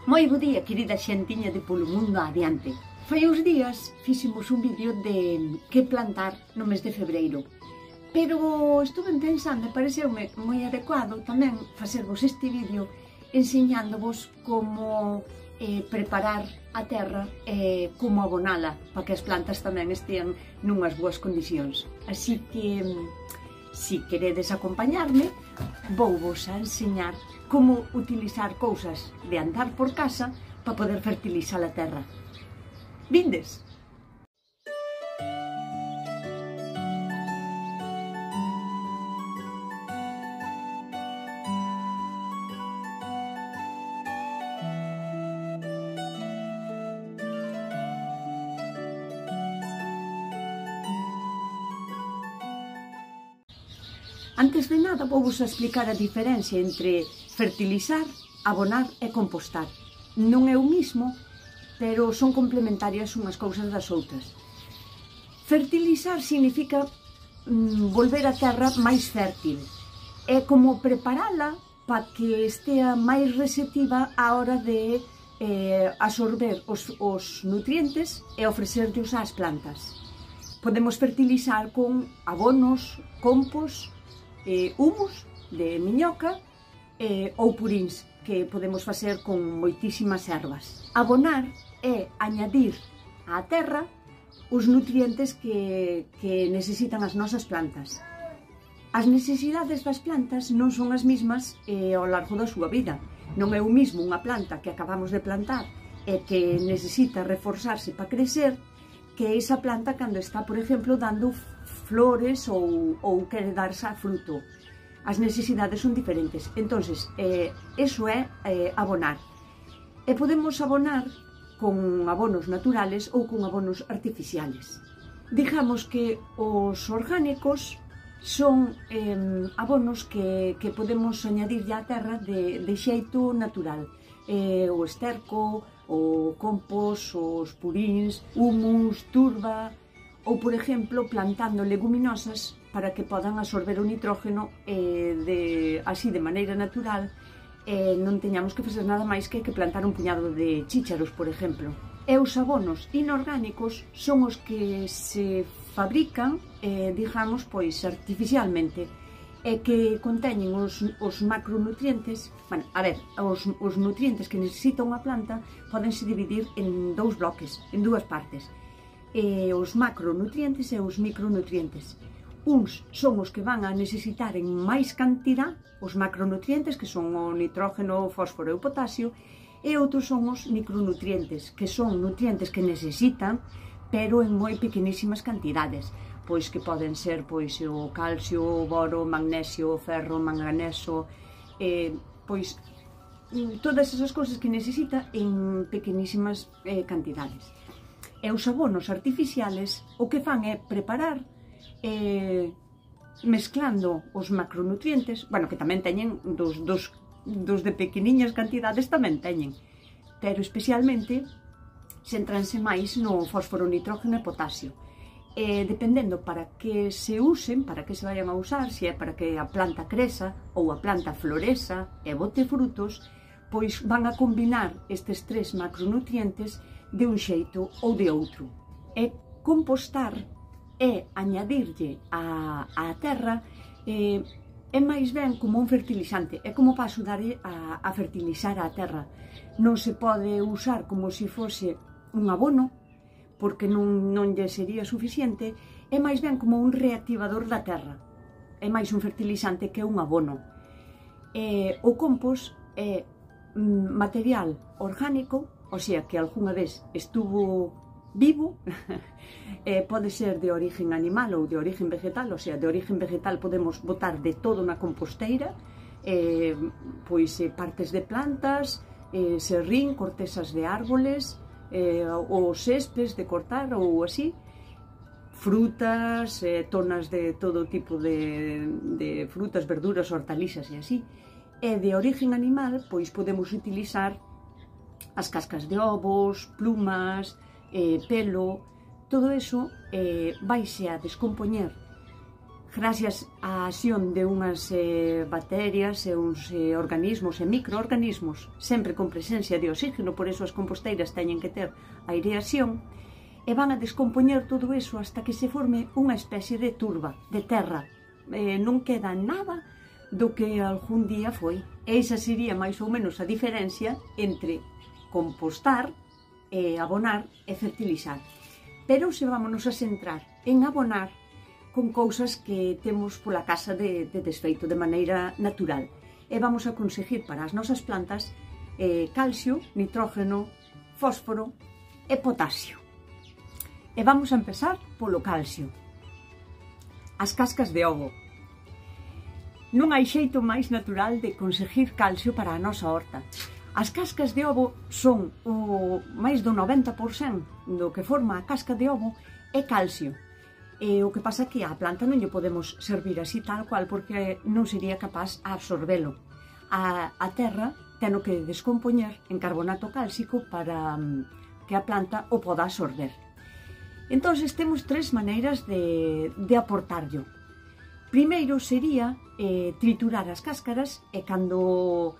Moi bo día, querida xentiña de Polo Mundo Adiante. Fai uns días fixemos un vídeo de que plantar no mes de febreiro. Pero estuve pensando e pareceume moi adecuado tamén facervos este vídeo enseñándovos como preparar a terra e como abonala para que as plantas tamén estean nunhas boas condicións. Así que, se queredes acompañarme, vouvos a enseñar como utilizar cousas de andar por casa para poder fertilizar a terra. Vindes! Antes de nada, vouvos a explicar a diferencia entre fertilizar, abonar e compostar. Non é o mismo, pero son complementarias unhas cousas das outras. Fertilizar significa volver a terra máis fértil. É como preparala para que estea máis receptiva á hora de absorber os nutrientes e ofrecerlos ás plantas. Podemos fertilizar con abonos, compost, humus de miñoca ou purins que podemos facer con moitísimas ervas. Abonar é añadir á terra os nutrientes que necesitan as nosas plantas. As necesidades das plantas non son as mesmas ao largo da súa vida. Non é o mismo unha planta que acabamos de plantar e que necesita reforzarse para crecer que esa planta cando está, por exemplo, dando flores ou quere darse a fruto. As necesidades son diferentes. Entonces, eso é abonar. E podemos abonar con abonos naturales ou con abonos artificiales. Digamos que os orgánicos son abonos que podemos añadirlle á terra de xeito natural. O esterco, o compost, os purins, humus, turba, ou, por exemplo, plantando leguminosas para que podan absorber o nitrógeno así de maneira natural e non teñamos que facer nada máis que plantar un puñado de chícharos, por exemplo. E os abonos inorgánicos son os que se fabrican, digamos, pois artificialmente, e que conteñen os macronutrientes. Bueno, a ver, os nutrientes que necesita unha planta podense dividir en dous bloques, en dúas partes. Os macronutrientes e os micronutrientes. Uns son os que van a necesitar en máis cantidad, os macronutrientes, que son o nitrógeno, o fósforo e o potasio, e outros son os micronutrientes, que son nutrientes que necesitan, pero en moi pequenísimas cantidades. Pois que poden ser o calcio, o boro, o magnesio, o ferro, o manganeso, pois todas esas cousas que necesita en pequenísimas cantidades. E os abonos artificiales o que fan é preparar mezclando os macronutrientes, bueno, que tamén teñen dos de pequeniñas cantidades tamén teñen, pero especialmente centranse máis no fósforo, nitrógeno e potasio. Dependendo para que se usen, para que se vayan a usar, se é para que a planta creza ou a planta floreza e bote frutos, pois van a combinar estes tres macronutrientes de un xeito ou de outro. E compostar é añadirlle á terra é máis ben como un fertilizante, é como para axudar a fertilizar a terra. Non se pode usar como se fose un abono, porque non lle sería suficiente, é máis ben como un reactivador da terra. É máis un fertilizante que un abono. O compost é material orgánico, o sea, que algunha vez estuvo vivo, pode ser de origen animal ou de origen vegetal, o sea, de origen vegetal podemos botar de todo na composteira, pois partes de plantas, serrín, cortezas de árboles, ou céspedes de cortar ou así, frutas, tonas de todo tipo de frutas, verduras, hortalizas e así. E de origen animal, pois podemos utilizar as cascas de ovos, plumas, pelo, todo eso vaise a descompoñer gracias á acción de unhas bacterias e uns organismos e microorganismos, sempre con presencia de oxígeno, por eso as composteiras teñen que ter aireación, e van a descompoñer todo iso hasta que se forme unha especie de turba, de terra. Non queda nada do que algún día foi. E esa sería máis ou menos a diferencia entre compostar, abonar e fertilizar. Pero se vámonos a centrar en abonar con cousas que temos pola casa de desfeito de maneira natural. E vamos a conseguir para as nosas plantas calcio, nitrógeno, fósforo e potasio. E vamos a empezar polo calcio. As cascas de ovo. Non hai xeito máis natural de conseguir calcio para a nosa horta. As cascas de ovo son o máis do 90% do que forma a casca de ovo é calcio. E o que pasa é que a planta non lle podemos servir así tal cual porque non sería capaz a absorbelo. A terra ten que descompoñer en carbonato cálcico para que a planta o poda absorber. Entón, temos tres maneiras de aportarlo. Primeiro sería triturar as cáscaras e cando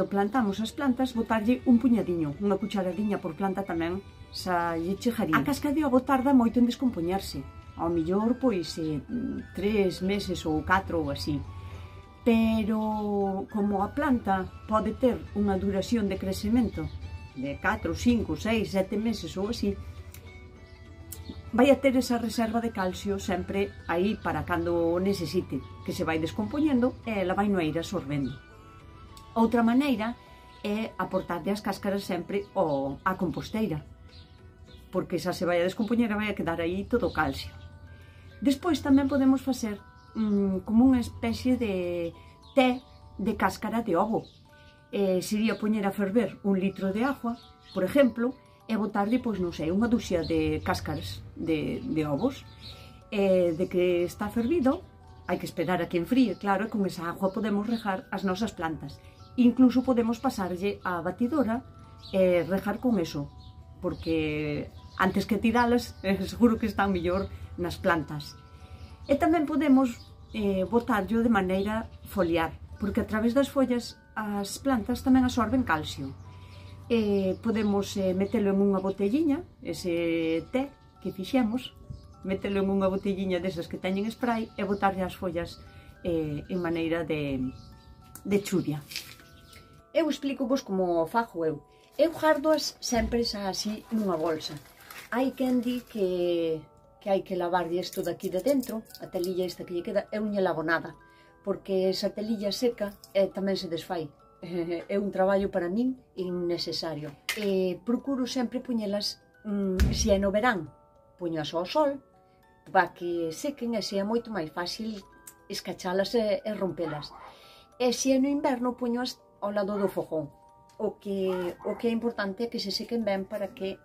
plantamos as plantas botarlle un puñadiño, unha cucharadiña por planta tamén xa lle chegaría. A casca de ovo tarda moito en descompoñerse, ao millor pois 3 meses ou 4 ou así. Pero como a planta pode ter unha duración de crecemento de 4, 5, 6, 7 meses ou así, vai a ter esa reserva de calcio sempre aí para cando o necesite, que se vai descompoñendo e ela vai no ir absorbendo. Outra maneira é aportarlle as cáscaras sempre á composteira, porque xa se vai a descompoñer e vai a quedar aí todo o calcio. Despois tamén podemos facer como unha especie de té de cáscara de ovo. Sería poñer a ferver 1 litro de agua, por exemplo, e botarlle, pois non sei, unha duxia de cáscaras de ovos. De que está fervido, hai que esperar a que enfríe, claro, e con esa agua podemos regar as nosas plantas. Incluso podemos pasarlle a batidora e regar con eso, porque antes que tiralas, seguro que están mellor nas plantas. E tamén podemos botarlo de maneira foliar, porque a través das follas as plantas tamén absorben calcio. Podemos metelo en unha botelliña, ese té que fixemos, metelo en unha botelliña desas que teñen spray e botarlle as follas en maneira de churia. Eu explico vos como fago eu. Eu gardoas sempre así nunha bolsa. Hai quen di que hai que lavarlle isto daqui de dentro, a telilla esta que lle queda, eu non lle lavo nada, porque esa telilla seca tamén se desfai. É un traballo para min innecesario. Procuro sempre poñelas, se é no verán, poñas ao sol, para que sequen e sea moito máis fácil escachalas e rompelas. E se é no inverno, poñoas ao lado do fogón. O que é importante é que se sequen ben para que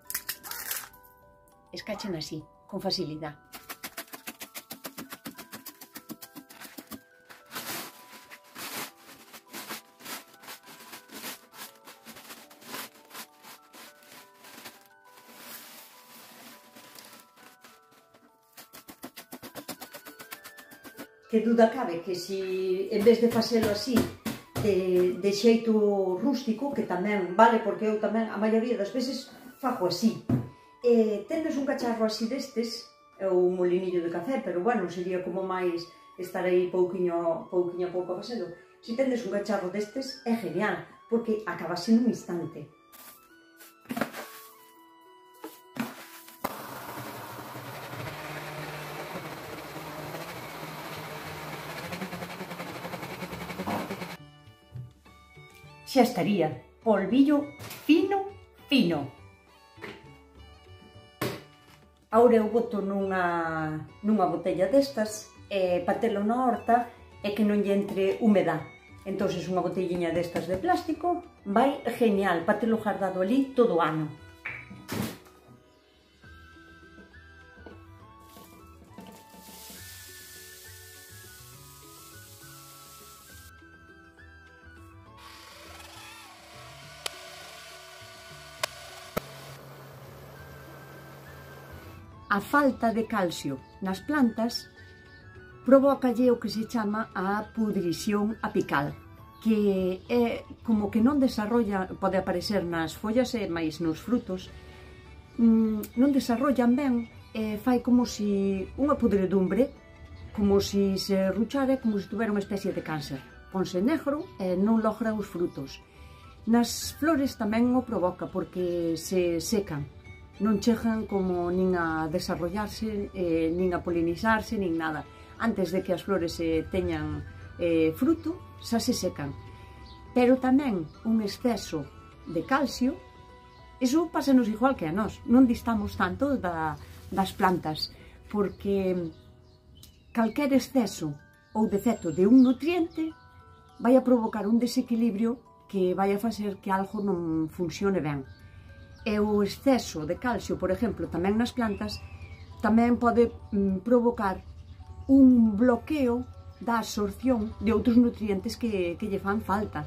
escachen así, con facilidade. Que duda cabe que si en vez de facelo así de xeito rústico, que tamén vale, porque eu tamén a maioría das veces fago así, tendes un cacharro así destes, ou un molinillo de café, pero bueno, sería como máis estar aí pouquiño a pouco a facelo. Se tendes un cacharro destes é genial, porque acabase nun instante. Xa estaría, polvillo fino, fino. Ahora eu boto nunha botella destas para telo na horta e que non lle entre humedad. Entón, unha botelliña destas de plástico vai genial para telo guardado ali todo o ano. A falta de calcio nas plantas provócalle o que se chama a pudrición apical, que é como que non desarrolla, pode aparecer nas follas e máis nos frutos, non desarrollan ben, fai como si unha pudredumbre, como si se ruchara, como se tuvera unha especie de cáncer. Ponse negro e non logra os frutos. Nas flores tamén o provoca porque se secan, non chegan como nin a desarrollarse, nin a polinizarse, nin nada. Antes de que as flores teñan fruto, xa se secan. Pero tamén un exceso de calcio, iso pásanos igual que a nós, non distamos tanto das plantas, porque calquer exceso ou defecto de un nutriente vai a provocar un desequilibrio que vai a facer que algo non funcione ben. E o exceso de calcio, por exemplo, tamén nas plantas, tamén pode provocar un bloqueo da absorción de outros nutrientes que lle fan falta.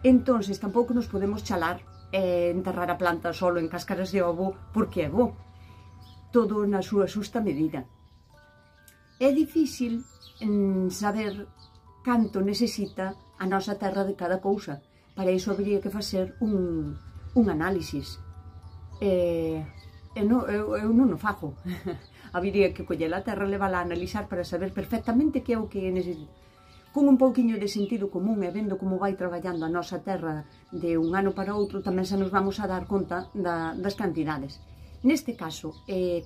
Entonces, tampouco nos podemos chalar e enterrar a planta solo en cáscaras de ovo porque é bo. Todo na súa xusta medida. É difícil saber canto necesita a nosa terra de cada cousa. Para iso habría que facer un análisis. Eu non o fago. Habría que coller a terra, levala a analizar para saber perfectamente que é o que necesita. Con un pouquiño de sentido común e vendo como vai traballando a nosa terra de un ano para outro, tamén se nos vamos a dar conta das cantidades. Neste caso,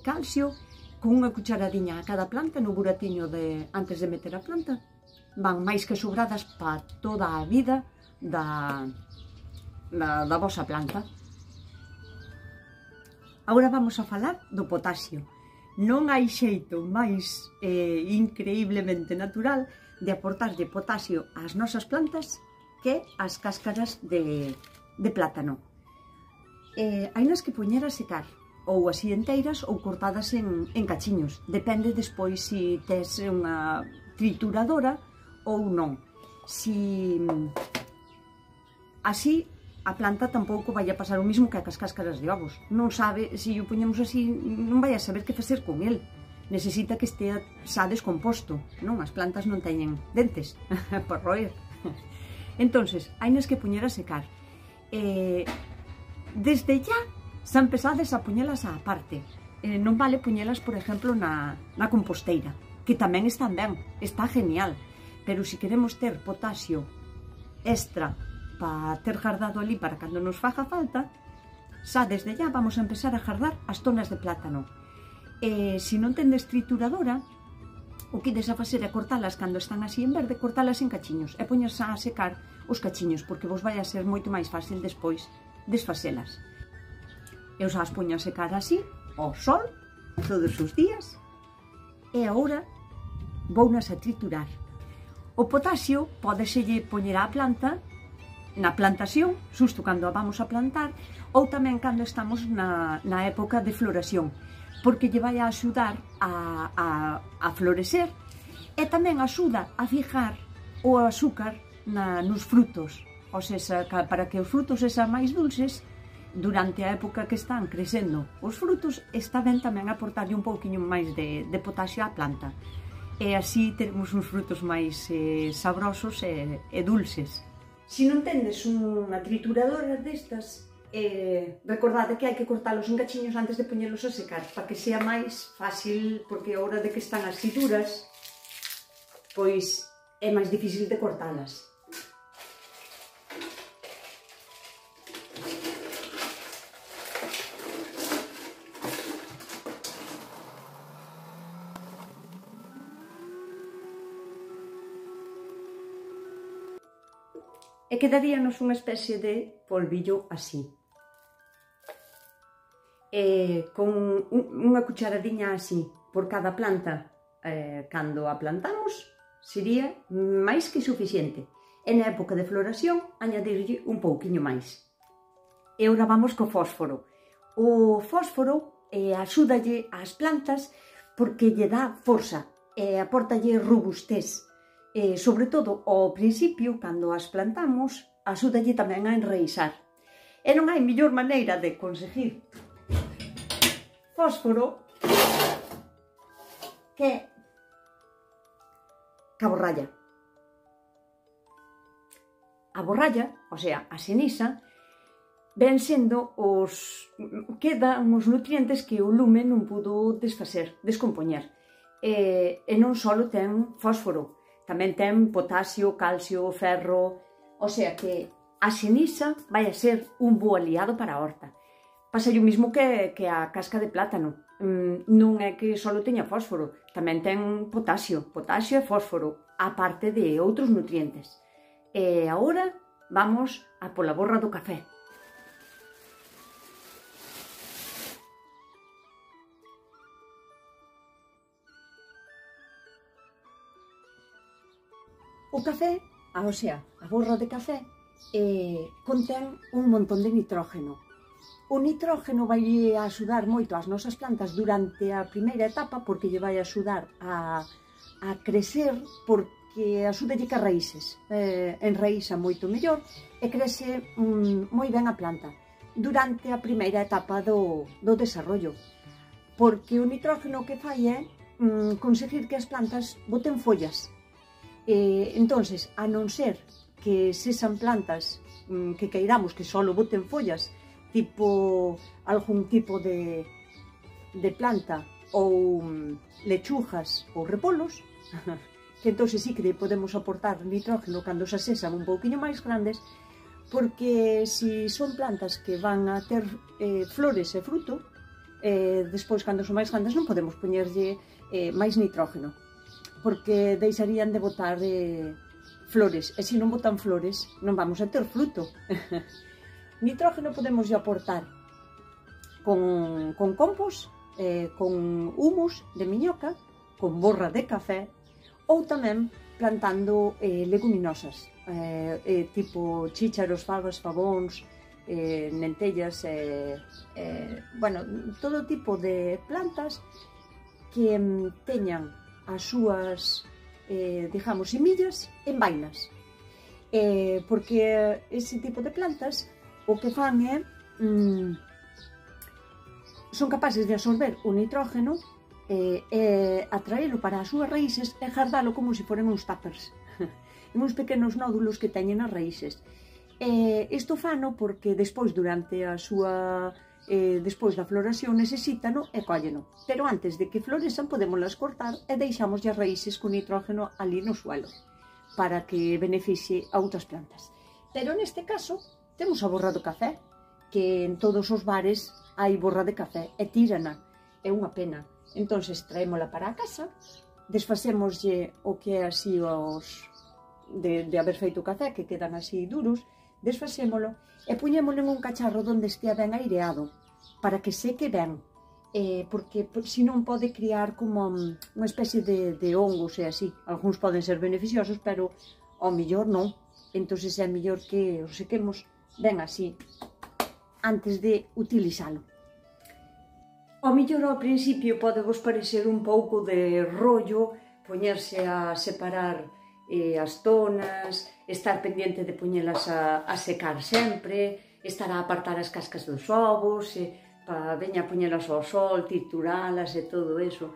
calcio, con unha cucharadiña a cada planta no buratiño antes de meter a planta, van máis que sobradas para toda a vida da vosa planta. Agora vamos a falar do potasio. Non hai xeito máis increíblemente natural de aportarlle potasio ás nosas plantas que as cáscaras de plátano. Hainas que poñer a secar, ou así enteiras ou cortadas en cachiños. Depende despois se tes unha trituradora ou non. Así, a planta tampouco vai a pasar o mismo que as cáscaras de ovos. Non sabe, se o poñemos así, non vai a saber que facer con el. Necesita que estea xa descomposto, non? As plantas non teñen dentes para roer. Entonces, hainas que poñer a secar. Desde ya, xa empezades a poñelas á parte. Non vale poñelas, por exemplo, na composteira, que tamén están ben, está genial. Pero se queremos ter potasio extra para ter guardado ali para cando nos faga falta, xa desde ya vamos a empezar a guardar as tonas de plátano. Se non tendes trituradora, o que ides a facer é cortalas cando están así en verde, cortalas en cachiños e poñas a secar os cachiños, porque vos vai a ser moito máis fácil despois desfacelas. Eu xa as poño a secar así, ao sol, todos os días, e agora vounas a triturar. O potasio pódeselle poñer á planta na plantación, xusto cando a vamos a plantar, ou tamén cando estamos na época de floración, porque lle vai a axudar a florecer e tamén axuda a fijar o azúcar nos frutos, ou seja, para que os frutos sexan máis dulces durante a época que están crecendo os frutos, está ben tamén aportarlle un pouquiño máis de potasio á planta, e así teremos uns frutos máis sabrosos e dulces. Se non tendes unha trituradora destas, recordade que hai que cortalos en cachiños antes de poñelos a secar, para que sea máis fácil, porque a hora de que están así duras, pois é máis difícil de cortalas. E quedaríanos unha especie de polvillo así. Con unha cucharadiña así por cada planta, cando a plantamos, sería máis que suficiente. E na época de floración, añadirlle un pouquiño máis. E agora vamos co fósforo. O fósforo axúdalle ás plantas porque lle dá forza e apórtalle robustez. Sobre todo ao principio, cando as plantamos, axúdalle tamén a enraizar. E non hai mellor maneira de conseguir fósforo que ca borralla. A borralla, o sea, a ceniza, ven sendo quedan os nutrientes que o lume non pudo descompoñer. E non só ten fósforo, tamén ten potasio, calcio, ferro, o sea que a ceniza vai a ser un bo aliado para a horta. Pasa o mismo que a casca de plátano. Non é que só teña fósforo, tamén ten potasio e fósforo, aparte de outros nutrientes. E agora vamos a pola borra do café. O café, o sea, a borra de café, contén un montón de nitrógeno. O nitrógeno vai axudar moito ás nosas plantas durante a primeira etapa porque lle vai axudar a crecer, porque axúdalle ca raíces, enraíza moito mellor e crece moi ben a planta durante a primeira etapa do desarrollo, porque o nitrógeno que fai é conseguir que as plantas boten follas. Entonces, a non ser que sexan plantas que queiramos que só boten follas, tipo algún tipo de planta ou lechugas ou repolos, que entonces sí que podemos aportar nitrógeno cando xa sexan un pouquiño máis grandes, porque se son plantas que van a ter flores e fruto, despois cando son máis grandes non podemos poñerlle máis nitrógeno, porque deixarían de botar flores, e se non botan flores non vamos a ter fruto. Nitrógeno podemos aportar con compost, con humus de miñoca, con borra de café, ou tamén plantando leguminosas, tipo chícharos, fabas, fabóns, lentellas, bueno, todo tipo de plantas que teñan as súas, digamos, semillas en vainas, porque ese tipo de plantas o que fan é son capaces de absorber o nitrógeno e atraelo para as súas raíces e guardalo como se foren uns tuppers, uns pequenos nódulos que teñen as raíces. Isto fano porque despois, durante a súa despois da floración, necesítano e cólleno, pero antes de que florezan podémoslas cortar e deixamos as raíces con nitrógeno ali no suelo para que beneficie a outras plantas. Pero neste caso temos a borra do café, que en todos os bares hai borra de café e tírana, é unha pena. Entonces traémola para a casa, desfacémoslle o que é así de haber feito o café, que quedan así duros, desfacémolo e puñémolo en un cacharro onde estea ben aireado, para que seque ben, porque senón pode criar como unha especie de hongos e así. Algúns poden ser beneficiosos, pero ao mellor non. Entón é mellor que os sequemos ben así, antes de utilizalo. Ao mellor ao principio pode vos parecer un pouco de rollo poñerse a separar as zonas, estar pendiente de poñelas a secar sempre, estar a apartar as cascas dos ovos, para veña a poñelas ao sol, trituralas e todo eso.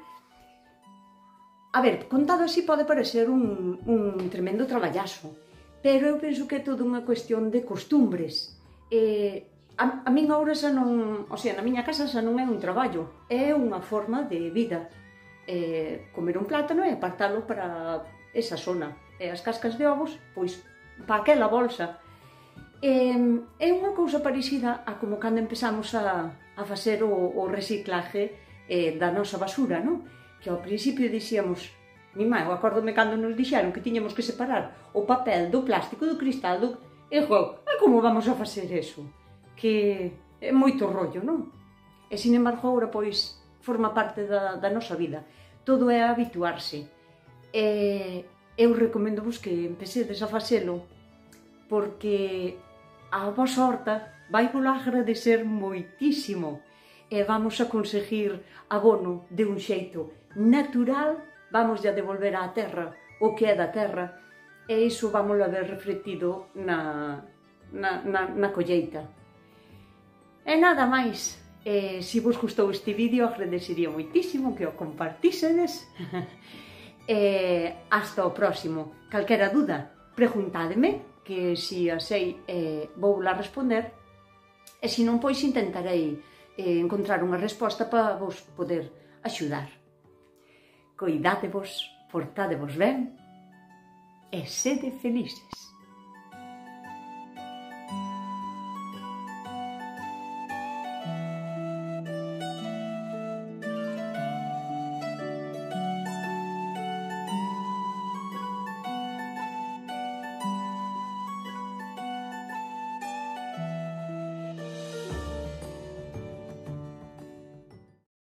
A ver, contado así pode parecer un tremendo traballazo, pero eu penso que é toda unha cuestión de costumbres. A min agora xa non, o sea, na miña casa xa non é un traballo, é unha forma de vida. Comer un plátano e apartalo para esa zona, e as cascas de ovos, pois, para aquela bolsa. É unha cousa parecida a como cando empezamos a facer o reciclaje da nosa basura, non? Que ao principio dixíamos, mi má, eu acórdome cando nos dixeron que tiñamos que separar o papel do plástico, do cristal, e como vamos a facer eso? Que é moito rollo, non? E, sin embargo, agora, pois, forma parte da nosa vida. Todo é habituarse. Eu recomendo-vos que empecedes a facelo, porque a vosa horta vai vos agradecer moitísimo e vamos a conseguir abono de un xeito natural, vamos a devolver á terra o que é da terra, e iso vamos a ver reflectido na colleita. E nada máis, se vos gustou este vídeo, agradecería moitísimo que o compartísedes hasta o próximo. Calquera dúda, preguntádeme, que se a sei vou la responder, e se non, pois intentarei encontrar unha resposta para vos poder axudar. Coidádevos, portádevos ben e sede felices.